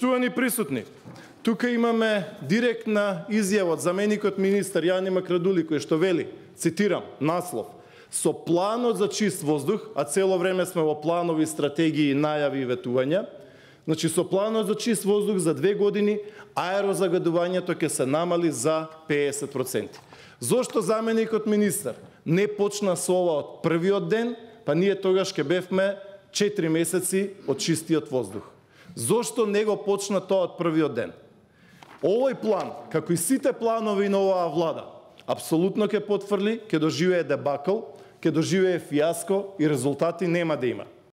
Поштувани присутни, тука имаме директна изјава од заменикот министар Јани Макрадули кој што вели, цитирам, наслов: со планот за чист воздух, а цело време сме во планови, стратегии, најави и ветувања, значи со планот за чист воздух за 2 години аерозагадувањето ќе се намали за 50%. Зошто заменикот министар не почна со ова од првиот ден, па ние тогаш ќе бевме 4 месеци од чистиот воздух? Зошто не го почна тоа од првиот ден? Овој план, како и сите планови на оваа влада, апсолутно ќе потврли, ќе доживее дебакл, ќе доживее фијаско и резултати нема да има.